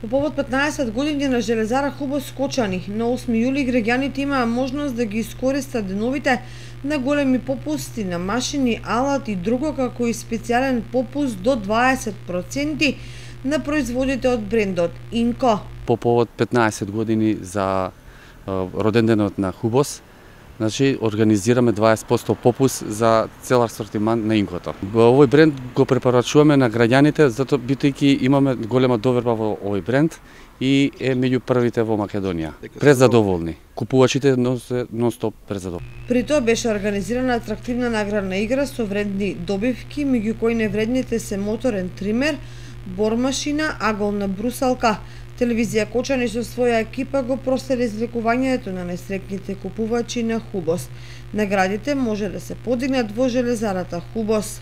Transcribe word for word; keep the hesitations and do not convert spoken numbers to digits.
По повод петнаесет години на Железара Хубос Кочани, на осми јули граѓаните имаа можност да ги искористат деновите на големи попусти на машини, алат и друго, како и специјален попуст до дваесет проценти на производите од брендот Инко. По повод петнаесет години за роденденот на Хубос, значи организираме дваесет проценти попуст за цел асортиман на Инкото. Овој бренд го препорачуваме на граѓаните, затоа бидејќи имаме голема доверба во овој бренд и е меѓу првите во Македонија. Презадоволни. Купувачите нон-стоп презадоволни. При тоа беше организирана атрактивна наградна игра со вредни добивки, меѓу кои невредните се моторен тример, бормашина, аголна брусалка. Телевизија Кочани со своја екипа го проследи излекувањето на несреќните купувачи на Хубос. Наградите може да се подигнат во Железарата Хубос.